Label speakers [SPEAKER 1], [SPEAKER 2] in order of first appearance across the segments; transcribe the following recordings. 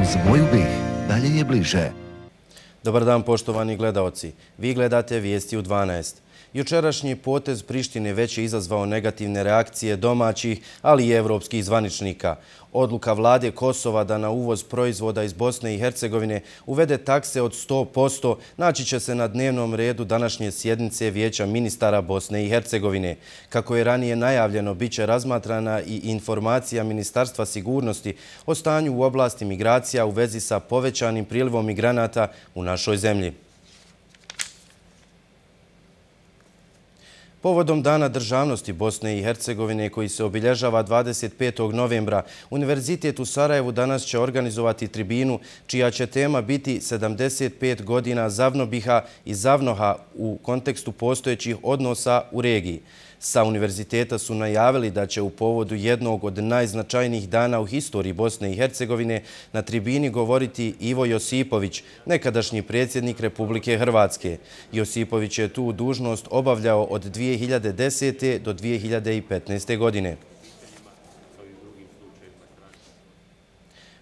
[SPEAKER 1] Uz moju BiH dalje je bliže.
[SPEAKER 2] Dobar dan poštovani gledaoci. Vi gledate Vijesti u 12. Jučerašnji potez Prištine već je izazvao negativne reakcije domaćih, ali i evropskih zvaničnika. Odluka vlade Kosova da na uvoz proizvoda iz Bosne i Hercegovine uvede takse od 100% naći će se na dnevnom redu današnje sjednice Vijeća ministara Bosne i Hercegovine. Kako je ranije najavljeno, bit će razmatrana i informacija Ministarstva sigurnosti o stanju u oblasti migracija u vezi sa povećanim prilivom migranata u našoj zemlji. Povodom Dana državnosti Bosne i Hercegovine koji se obilježava 25. novembra, Univerzitet u Sarajevu danas će organizovati tribinu čija će tema biti 75 godina Zavnobiha i Zavnoha u kontekstu postojećih odnosa u regiji. Sa univerziteta su najavili da će u povodu jednog od najznačajnijih dana u historiji Bosne i Hercegovine na tribini govoriti Ivo Josipović, nekadašnji predsjednik Republike Hrvatske. Josipović je tu dužnost obavljao od 2010. do 2015. godine.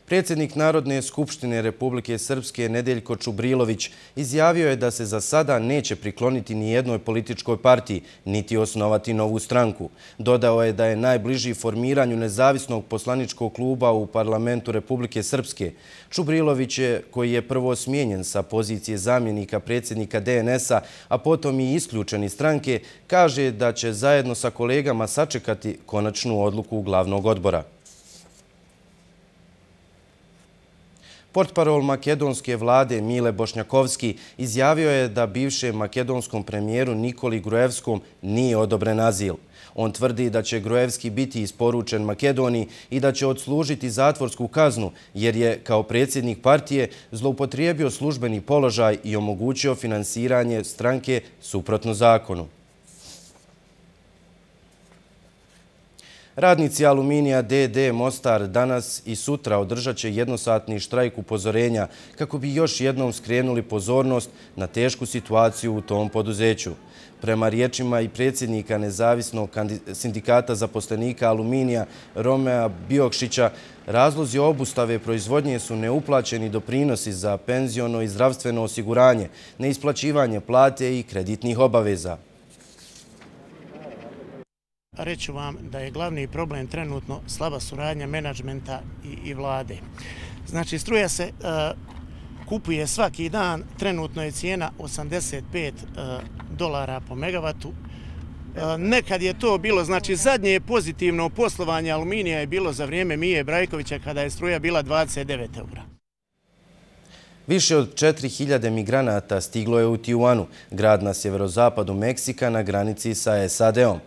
[SPEAKER 2] Predsjednik Narodne skupštine Republike Srpske Nedeljko Čubrilović izjavio je da se za sada neće prikloniti ni jednoj političkoj partiji, niti osnovati novu stranku. Dodao je da je najbliži formiranju nezavisnog poslaničkog kluba u parlamentu Republike Srpske. Čubrilović je, koji je prvo smijenjen sa pozicije zamjenika predsjednika DNS-a, a potom i isključen iz stranke, kaže da će zajedno sa kolegama sačekati konačnu odluku glavnog odbora. Portparol makedonske vlade Mile Bošnjakovski izjavio je da bivšem makedonskom premijeru Nikoli Gruevskom nije odobren azil. On tvrdi da će Gruevski biti isporučen Makedoniji i da će odslužiti zatvorsku kaznu jer je, kao predsjednik partije, zloupotrijebio službeni položaj i omogućio finansiranje stranke suprotno zakonu. Radnici Aluminija d.d. Mostar danas i sutra održat će jednosatni štrajk upozorenja kako bi još jednom skrenuli pozornost na tešku situaciju u tom poduzeću. Prema riječima i predsjednika nezavisnog sindikata zaposlenika Aluminija Romea Biokšića, razlozi obustave proizvodnje su neuplaćeni doprinosi za penziono i zdravstveno osiguranje, neisplaćivanje plate i kreditnih obaveza.
[SPEAKER 3] Reću vam da je glavni problem trenutno slaba suradnja menadžmenta i vlade. Znači, struja se kupuje svaki dan, trenutno je cijena $85 po megavatu. Nekad je to bilo, znači zadnje pozitivno poslovanje Aluminija je bilo za vrijeme Mije Brajkovića kada je struja bila 29 eura.
[SPEAKER 2] Više od 4000 migranata stiglo je u Tijuanu, grad na sjeverozapadu Meksika na granici sa SAD-om.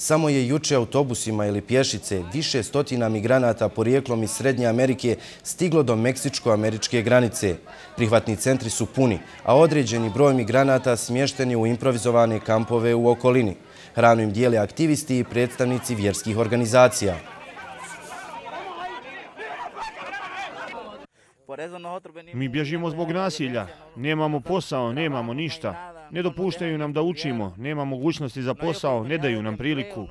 [SPEAKER 2] Samo je juče autobusima ili pješice više stotina migranata porijeklom iz Srednje Amerike stiglo do meksičko-američke granice. Prihvatni centri su puni, a određeni broj migranata smješten je u improvizovane kampove u okolini. Hranu im dijele aktivisti i predstavnici vjerskih organizacija.
[SPEAKER 4] Mi bježimo zbog nasilja, nemamo posao, nemamo ništa. Ne dopuštaju nam da učimo, nema mogućnosti za posao, ne daju nam priliku.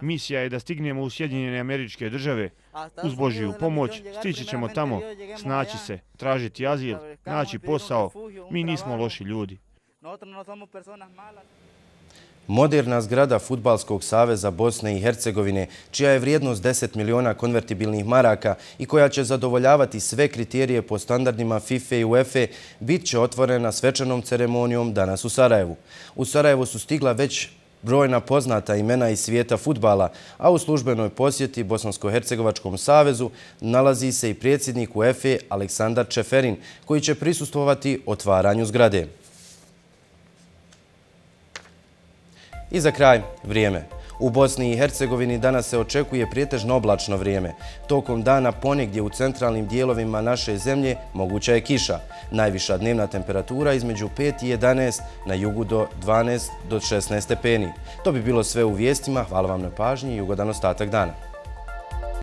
[SPEAKER 4] Misija je da stignemo u Sjedinjene Američke Države. Uz Božju pomoć stići ćemo tamo, snaći se, tražiti azil, naći posao. Mi nismo loši ljudi.
[SPEAKER 2] Moderna zgrada Fudbalskog saveza Bosne i Hercegovine, čija je vrijednost 10 miliona konvertibilnih maraka i koja će zadovoljavati sve kriterije po standardima FIFA i UEFA, bit će otvorena svečanom ceremonijom danas u Sarajevu. U Sarajevu su stigla već brojna poznata imena iz svijeta fudbala, a u službenoj posjeti Bosansko-Hercegovačkom savezu nalazi se i predsjednik UEFA Aleksandar Čeferin, koji će prisustvovati otvaranju zgrade. I za kraj, vrijeme. U Bosni i Hercegovini danas se očekuje prijetežno oblačno vrijeme. Tokom dana ponegdje u centralnim dijelovima naše zemlje moguća je kiša. Najviša dnevna temperatura između 5 i 11, na jugu do 12 do 16 stepeni. To bi bilo sve u vijestima. Hvala vam na pažnji i ugodan ostatak dana.